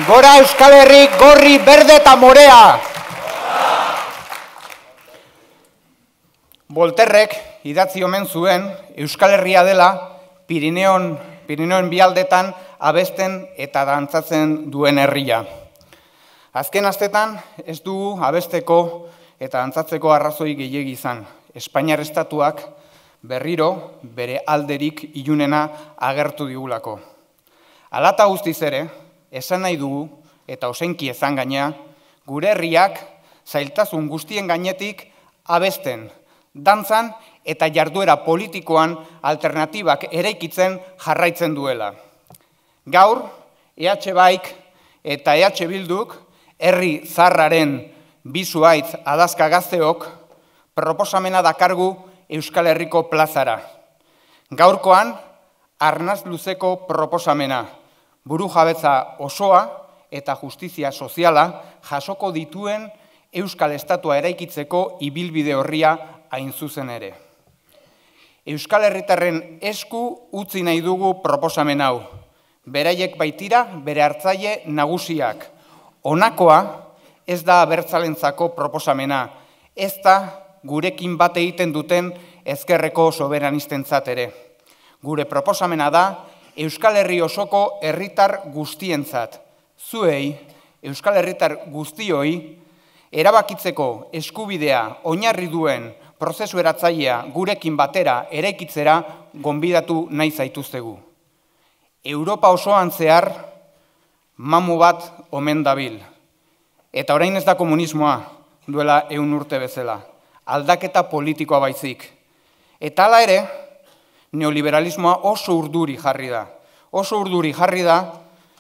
Gora Euskal Herri, gorri, berde eta morea! Volterrek idatzi omen zuen Euskal Herria dela Pirineon bialdetan abesten eta dantzatzen duen herria. Azken astetan ez dugu abesteko eta dantzatzeko arrazoi gehiegi izan. Espainiar estatuak berriro bere alderik ilunena agertu digulako. Hala eta guztiz ere, esan nahi dugu, eta osenki ezan gainea, gure herriak zailtasun guztien gainetik abesten, dantzan eta jarduera politikoan alternatibak eraikitzen jarraitzen duela. Gaur, EH Baik eta EH Bilduk, herri zarraren bizuaitz adazka gazteok, proposamena dakargu Euskal Herriko plazara. Gaurkoan, arnaz luzeko proposamena, burujabetza osoa eta justizia soziala jasoko dituen Euskal Estatua eraikitzeko ibilbide horria hain zuzen ere. Euskal Herritarren esku utzi nahi dugu proposamen hau. Beraiek baitira bere hartzaile nagusiak. Honakoa ez da abertzalentzako proposamena, ez da gurekin bat egiten duten ezkerreko soberanistentzat ere. Gure proposamena da Euskal Herri osoko herritar guztientzat. Zuei, Euskal Herritar guztioi, erabakitzeko eskubidea oinarri duen prozesu eratzailea gurekin batera eraikitzera gonbidatu nahi zaituztegu. Europa osoan zehar mamu bat omen dabil. Eta orain ez da komunismoa duela 100 urte bezala. Aldaketa politikoa baizik. Eta hala ere, neoliberalismoa oso urduri jarri da. Oso urduri jarri da,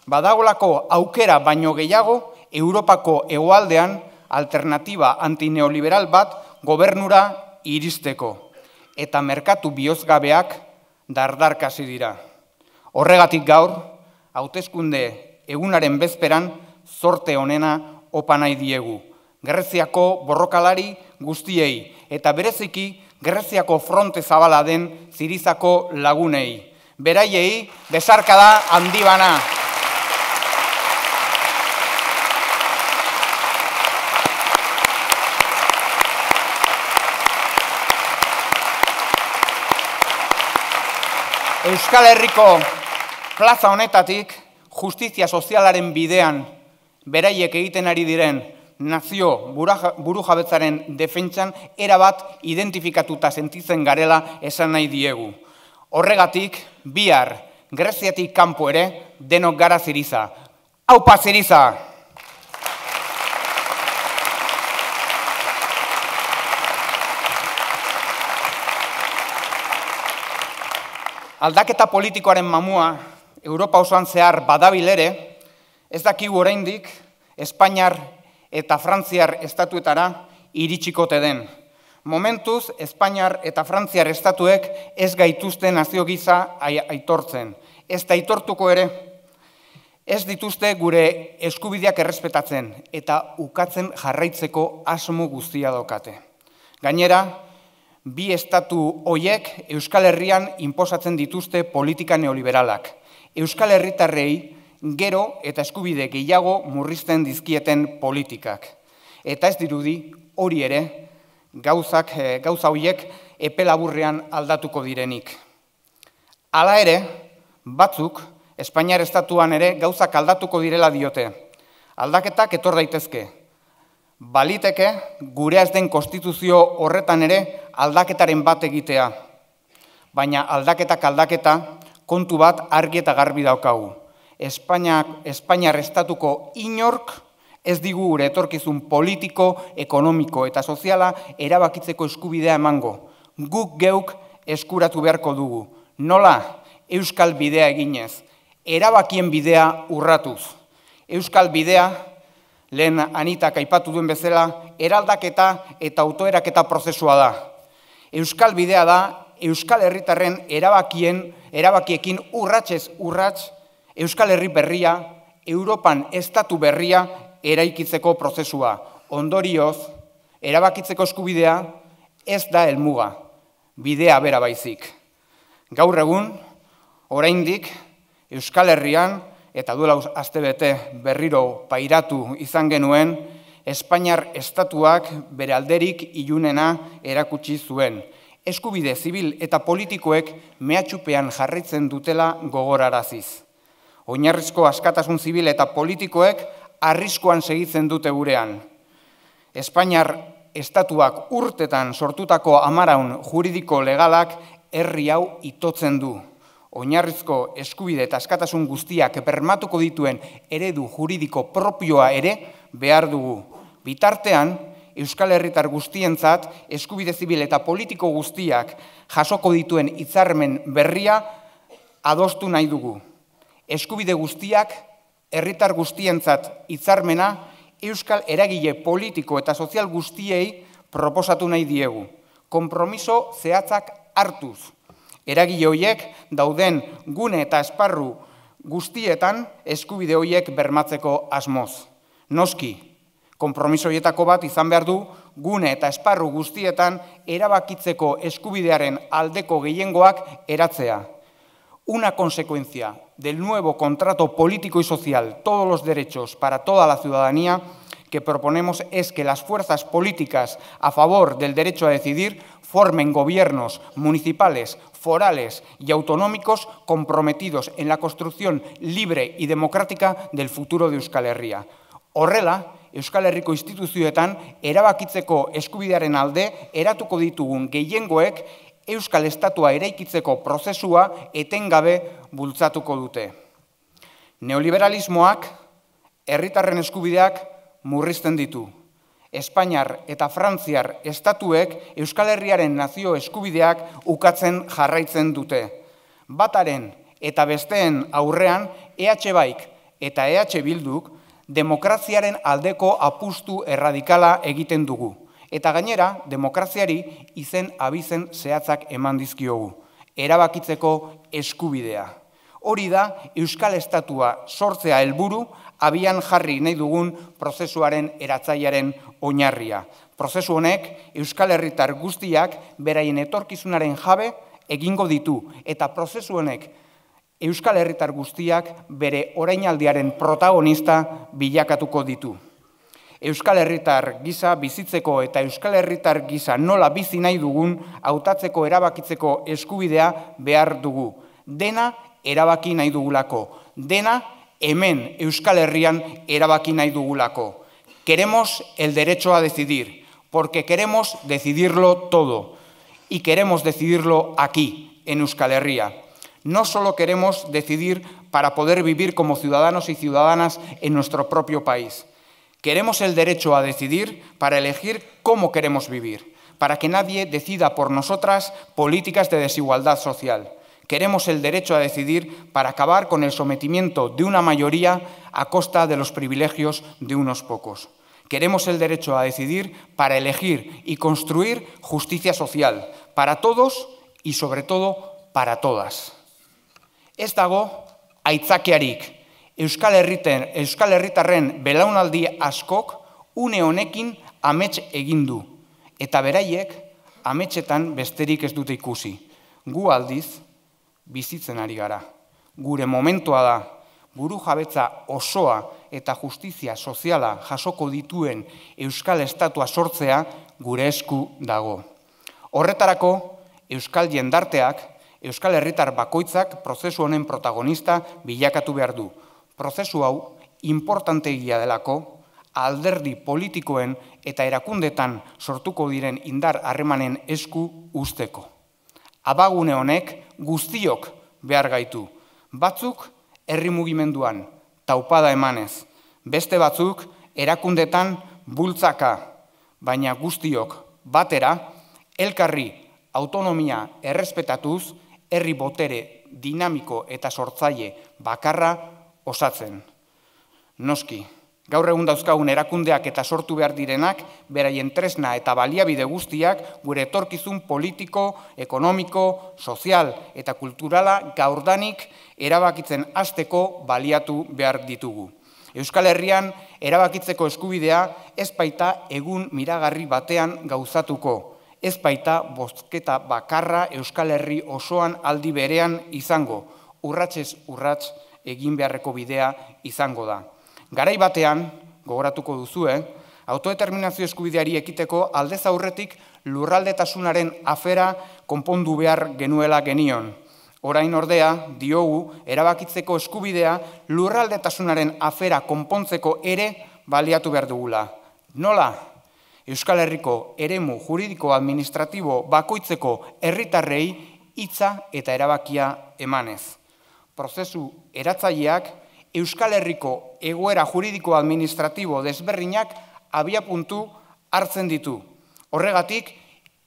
badagolako aukera baino gehiago Europako hegoaldean alternatiba antineoliberal bat gobernura iristeko. Eta merkatu bihozgabeak dardarkasi dira. Horregatik gaur, hauteskunde egunaren bezperan zorte onena opa nahi diegu. Greziako borrokalari guztiei eta bereziki Greziako fronte zabala den Zirizako lagunei. Beraiei besarkada handi bana. Euskal Herriko plaza honetatik justizia sozialaren bidean beraiek egiten ari diren nazio burujabetzaren defentsan erabat identifikatuta sentitzen garela esan nahi diegu. Horregatik, bihar, Greziatik kanpo ere, denok gara Ziriza. Aupa Ziriza! Aldaketa politikoaren mamua, Europa osoan zehar badabil ere, ez dakigu oraindik Espainiar eta Frantziar estatuetara iritsikote den. Momentuz, Espainiar eta Frantziar estatuek ez gaituzte nazio gisa aitortzen. Ez da aitortuko ere, ez dituzte gure eskubideak errespetatzen eta ukatzen jarraitzeko asmo guztia daukate. Gainera, bi estatu hoiek Euskal Herrian inposatzen dituzte politika neoliberalak. Euskal Herritarrei gero eta eskubide gehiago murrizten dizkieten politikak. Eta ez dirudi hori ere gauza horiek epe laburrean aldatuko direnik. Hala ere, batzuk Espainiar estatuan ere gauzak aldatuko direla diote. Aldaketak etor daitezke. Baliteke gure ez den konstituzio horretan ere aldaketaren bat egitea. Baina aldaketak aldaketa kontu bat argi eta garbi daukagu. Espainiar estatuko inork ez digu gure etorkizun politiko, ekonomiko eta soziala erabakitzeko eskubidea emango. Guk geuk eskuratu beharko dugu. Nola? Euskal bidea eginez. Erabakien bidea urratuz. Euskal bidea, lehen Anitak aipatu duen bezala, eraldaketa eta autoeraketa prozesua da. Euskal bidea da, Euskal Herritarren erabakiekin urratsez urrats, Euskal Herri berria, Europan estatu berria eraikitzeko prozesua. Ondorioz, erabakitzeko eskubidea ez da helmuga, bidea bera baizik. Gaur egun, oraindik Euskal Herrian eta duela astebete berriro pairatu izan genuen, Espainiar estatuak bere alderik ilunena erakutsi zuen. Eskubide zibil eta politikoek mehatxupean jarraitzen dutela gogoraraziz. Oinarrizko askatasun zibil eta politikoek arriskuan segitzen dute gurean. Espainiar estatuak urtetan sortutako amaraun juridiko legalak herri hau itotzen du. Oinarrizko eskubide eta askatasun guztiak bermatuko dituen eredu juridiko propioa ere behar dugu. Bitartean, Euskal Herritar guztientzat eskubide zibil eta politiko guztiak jasoko dituen hitzarmen berria adostu nahi dugu. Eskubide guztiak, herritar guztientzat hitzarmena, euskal eragile politiko eta sozial guztiei proposatu nahi diegu. Konpromiso zehatzak hartuz. Eragile horiek dauden gune eta esparru guztietan eskubide horiek bermatzeko asmoz. Noski, konpromiso horietako bat izan behar du gune eta esparru guztietan erabakitzeko eskubidearen aldeko gehiengoak eratzea. Una consecuencia del nuevo contrato político y social, todos los derechos para toda la ciudadanía, que proponemos es que las fuerzas políticas a favor del derecho a decidir formen gobiernos municipales, forales y autonómicos comprometidos en la construcción libre y democrática del futuro de Euskal Herria. Horrela, Euskal Herriko instituzioetan erabakitzeko eskubidearen alde eratuko ditugun gehiengoek Euskal Estatua eraikitzeko prozesua etengabe bultzatuko dute. Neoliberalismoak herritarren eskubideak murrizten ditu. Espainiar eta Frantziar estatuek Euskal Herriaren nazio eskubideak ukatzen jarraitzen dute. Bataren eta besteen aurrean EH Baik eta EH Bilduk demokraziaren aldeko apustu erradikala egiten dugu. Eta gainera, demokraziari izen abizen zehatzak eman dizkiogu. Erabakitzeko eskubidea. Hori da Euskal Estatua sortzea helburu abian jarri nahi dugun prozesuaren eratzailearen oinarria. Prozesu honek Euskal Herritar guztiak beraien etorkizunaren jabe egingo ditu eta prozesu honek Euskal Herritar guztiak bere orainaldiaren protagonista bilakatuko ditu. Euskal Herritar gisa bizitzeko eta Euskal Herritar gisa nola bizi nahi dugun hautatzeko erabakitzeko eskubidea behar dugu. Dena erabaki nahi dugulako. Dena hemen Euskal Herrian erabaki nahi dugulako. Queremos el derecho a decidir, porque queremos decidirlo todo. Y queremos decidirlo aquí, en Euskal Herria. No solo queremos decidir para poder vivir como ciudadanos y ciudadanas en nuestro propio país. Queremos el derecho a decidir para elegir cómo queremos vivir, para que nadie decida por nosotras políticas de desigualdad social. Queremos el derecho a decidir para acabar con el sometimiento de una mayoría a costa de los privilegios de unos pocos. Queremos el derecho a decidir para elegir y construir justicia social, para todos y sobre todo para todas. Ez dago aitzakiarik. Euskal Herritarren belaunaldi askok une honekin amets egin du. Eta beraiek ametsetan besterik ez dute ikusi. Gu aldiz bizitzen ari gara. Gure momentua da, buru jabetza osoa eta justizia soziala jasoko dituen Euskal Estatua sortzea gure esku dago. Horretarako, Euskal jendarteak, Euskal Herritar bakoitzak prozesu honen protagonista bilakatu behar du. Prozesu hau importantegia delako, alderdi politikoen eta erakundetan sortuko diren indar harremanen esku usteko. Abagune honek guztiok behar gaitu. Batzuk herri mugimenduan, taupada emanez. Beste batzuk erakundetan bultzaka, baina guztiok batera, elkarri autonomia errespetatuz, herri botere dinamiko eta sortzaile bakarra osatzen. Noski, gaur egun dauzkagun erakundeak eta sortu behar direnak, beraien tresna eta baliabide guztiak gure etorkizun politiko, ekonomiko, sozial eta kulturala gaurdanik erabakitzen hasteko baliatu behar ditugu. Euskal Herrian erabakitzeko eskubidea ez baita egun miragarri batean gauzatuko. Ez baita bozketa bakarra Euskal Herri osoan aldi berean izango, urratsez urrats egin beharreko bidea izango da. Garai batean, gogoratuko duzue, autodeterminazio eskubideari ekiteko aldez aurretik lurraldetasunaren afera konpondu behar genuela genion. Orain ordea, diogu, erabakitzeko eskubidea lurraldetasunaren afera konpontzeko ere baliatu behar dugula. Nola? Euskal Herriko eremu juridiko administratibo bakoitzeko herritarrei hitza eta erabakia emanez. Prozesu eratzaileak Euskal Herriko egoera juridiko administratibo desberdinak abiapuntu hartzen ditu. Horregatik,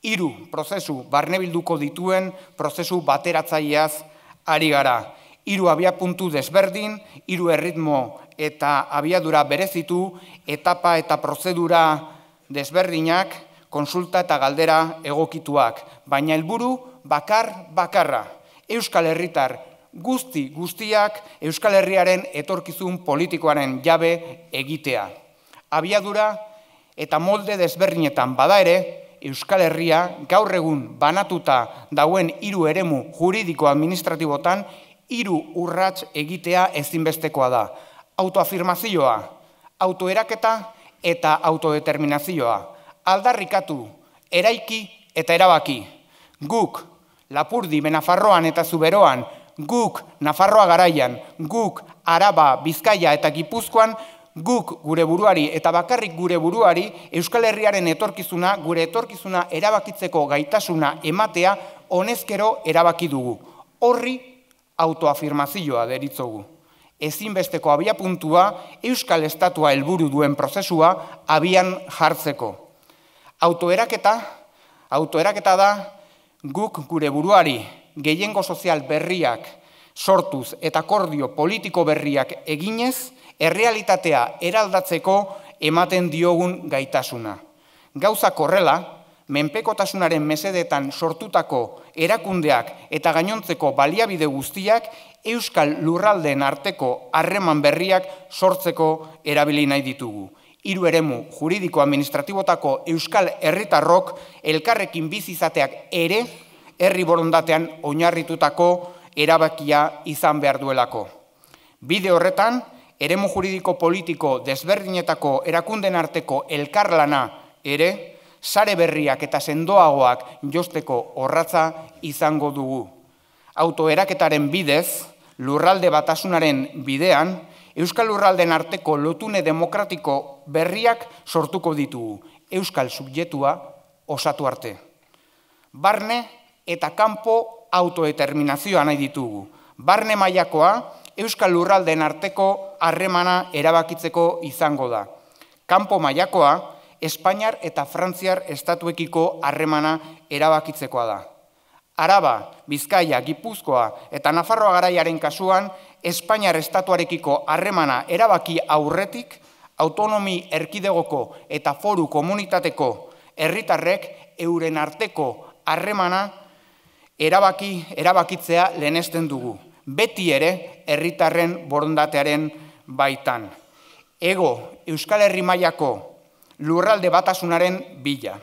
3 prozesu barnebilduko dituen prozesu bateratzaileaz ari gara. 3 abiapuntu desberdin, 3 erritmo eta abiadura berezitu, etapa eta prozedura desberdinak, konsulta eta galdera egokituak. Baina helburu bakarra. Euskal Herritar guztiak Euskal Herriaren etorkizun politikoaren jabe egitea. Abiadura eta molde desberdinetan bada ere, Euskal Herria gaur egun banatuta dauen 3 eremu juridiko administratibotan 3 urrats egitea ezinbestekoa da. Autoafirmazioa, autoeraketa eta autodeterminazioa. Aldarrikatu, eraiki eta erabaki. Guk Lapurdi, Benafarroan eta Zuberoan, guk Nafarroa Garaian, guk Araba, Bizkaia eta Gipuzkoan, guk gure buruari eta bakarrik gure buruari Euskal Herriaren etorkizuna, gure etorkizuna erabakitzeko gaitasuna ematea honezkero erabaki dugu. Horri autoafirmazioa deritzogu. Ezinbesteko abiapuntua Euskal Estatua helburu duen prozesua abian jartzeko. Autoeraketa da guk gure buruari gehiengo sozial berriak sortuz eta akordio politiko berriak eginez, errealitatea eraldatzeko ematen diogun gaitasuna. Gauzak horrela, menpekotasunaren mesedetan sortutako erakundeak eta gainontzeko baliabide guztiak Euskal lurraldeen arteko harreman berriak sortzeko erabili nahi ditugu. 3 eremu juridiko administratibotako Euskal herritarrok elkarrekin bizi izateak ere herri borondatean oinarritutako erabakia izan behar duelako. Bide horretan, eremu juridiko politiko desberdinetako erakunden arteko elkarlana ere, sare berriak eta sendoagoak josteko orratza izango dugu. Autoeraketaren bidez, lurralde batasunaren bidean, Euskal lurraldeen arteko lotune demokratiko berriak sortuko ditugu, Euskal subjektua osatu arte. Barne eta kanpo autodeterminazioa nahi ditugu. Barne mailakoa, Euskal lurraldeen arteko harremana erabakitzeko izango da. Kanpo mailakoa, Espainiar eta Frantziar estatuekiko harremana erabakitzekoa da. Araba, Bizkaia, Gipuzkoa eta Nafarroa Garaiaren kasuan, Espainiar estatuarekiko harremana erabaki aurretik, autonomi erkidegoko eta foru komunitateko herritarrek euren arteko harremana erabakitzea lehenesten dugu. Beti ere herritarren borondatearen baitan. Ego Euskal Herri mailako lurralde batasunaren bila.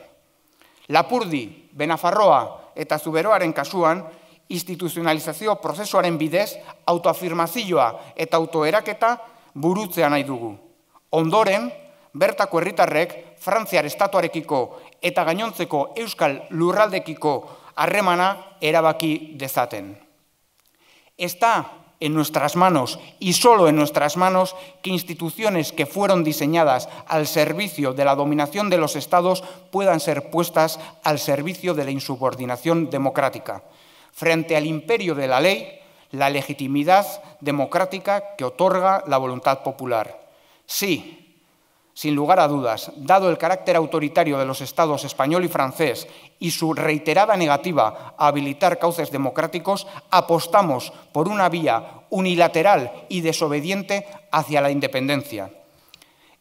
Lapurdi, Benafarroa eta Zuberoaren kasuan, instituzionalizazio prozesuaren bidez, autoafirmazioa eta autoeraketa burutzea nahi dugu. Ondoren, bertako herritarrek Frantziar estatuarekiko eta gainontzeko Euskal lurraldekiko harremana erabaki dezaten. Está en nuestras manos y solo en nuestras manos que instituciones que fueron diseñadas al servicio de la dominación de los estados puedan ser puestas al servicio de la insubordinación democrática. Frente al imperio de la ley, la legitimidad democrática que otorga la voluntad popular. Sí, sin lugar a dudas, dado el carácter autoritario de los estados español y francés y su reiterada negativa a habilitar cauces democráticos, apostamos por una vía unilateral y desobediente hacia la independencia.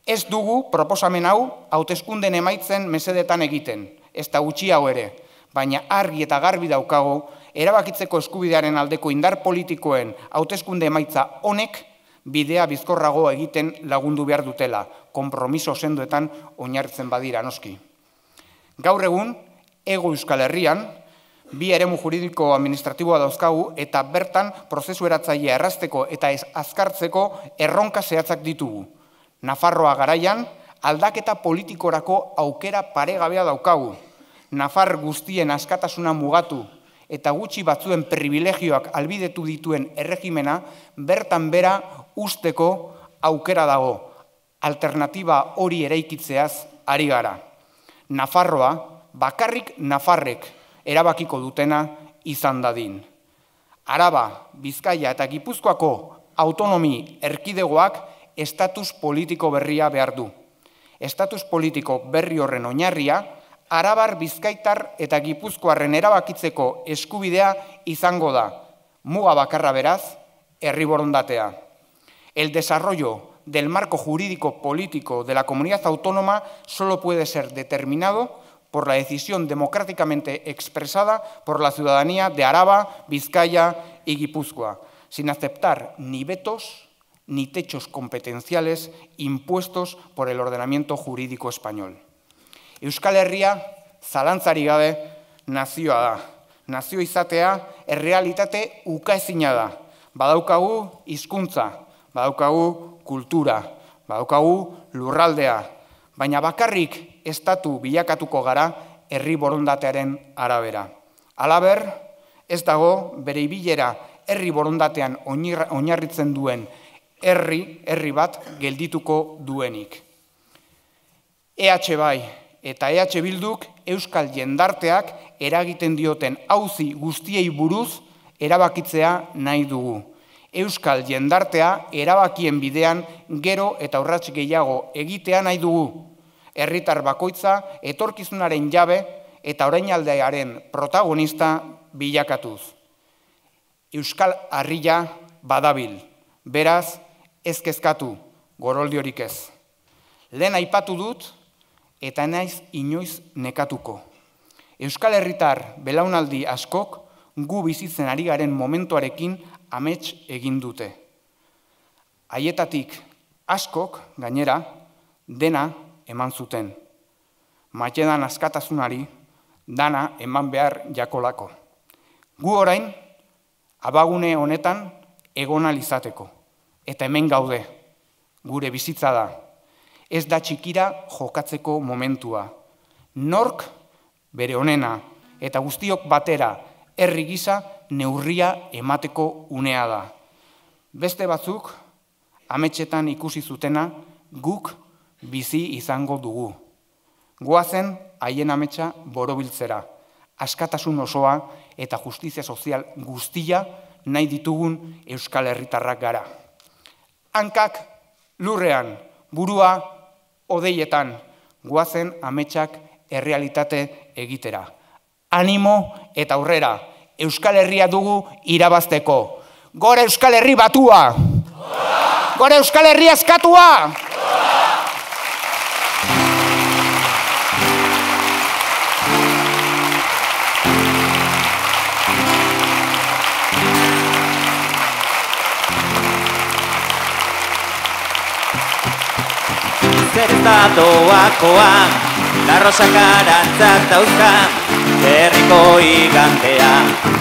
Ez dugu proposamen hau hauteskunden emaitzen mesedetan egiten, ezta gutxiago ere, baina argi eta garbi daukagu erabakitzeko eskubidearen aldeko indar politikoen hauteskunde emaitza honek bidea bizkorrago egiten lagundu behar dutela, konpromiso sendoetan oinarritzen badira noski. Gaur egun, Hego Euskal Herrian, Bi eremu juridiko administratiboa dauzkagu eta bertan prozesu eratzailea errazteko eta azkartzeko erronka zehatzak ditugu. Nafarroa garaian, aldaketa politikorako aukera paregabea daukagu. Nafar guztien askatasuna mugatu eta gutxi batzuen privilegioak albidetu dituen erregimena bertan bera usteko aukera dago. Alternatiba hori eraikitzeaz ari gara. Nafarroa, bakarrik Nafarrek erabakiko dutena izan dadin. Araba, Bizkaia eta Gipuzkoako autonomi erkidegoak estatus politiko berria behar du. Estatus politiko berri horren oinarria, Arabar, Bizkaitar eta Gipuzkoarren erabakitzeko eskubidea izango da. Muga bakarra beraz, herri borondatea. El desarrollo del marco jurídico político de la comunidad autónoma solo puede ser determinado por la decisión democráticamente expresada por la ciudadanía de Araba, Vizcaya y Guipúzcoa, sin aceptar ni vetos ni techos competenciales impuestos por el ordenamiento jurídico español. Euskal Herria, zalantzarik gabe, nazioa da. Nazio izatea errealitate ukaezina da. Badaukagu hizkuntza, badaukagu kultura, badaukagu lurraldea, baina bakarrik estatu bilakatuko gara herri borondatearen arabera. Halaber, ez dago bere ibilera herri borondatean oinarritzen duen herri bat geldituko duenik. EH bai eta EH Bilduk euskal jendarteak eragiten dioten auzi guztiei buruz erabakitzea nahi dugu. Euskal jendartea erabakien bidean gero eta urrats gehiago egitea nahi dugu. Herritar bakoitza etorkizunaren jabe eta orainaldearen protagonista bilakatuz. Euskal Harria badabil, beraz ez kezkatu, goroldiorik ez. Lehen aipatu dut eta naiz inoiz nekatuko. Euskal Herritar belaunaldi askok gu bizitzen ari garen momentuarekin amets egin dute. Haietatik askok, gainera, dena eman zuten. Matedan askatasunari, dana eman behar jakolako. Gu orain, abagune honetan egon alizateko. Eta hemen gaude, gure bizitza da. Ez da txikira jokatzeko momentua. Nork bere honena eta guztiok batera herri gisa neurria emateko unea da. Beste batzuk, ametsetan ikusi zutena, guk bizi izango dugu. Goazen haien ametsa borobiltzera, askatasun osoa eta justizia sozial guztia nahi ditugun euskal herritarrak gara. Hankak lurrean, burua odeietan, goazen ametsak errealitate egitera. Animo eta aurrera, Euskal Herria dugu irabazteko. Gora Euskal Herri batua! Gora Euskal Herri askatua! Zer ez da doakoa, larrosak arantzak dauzka, herriko igantea.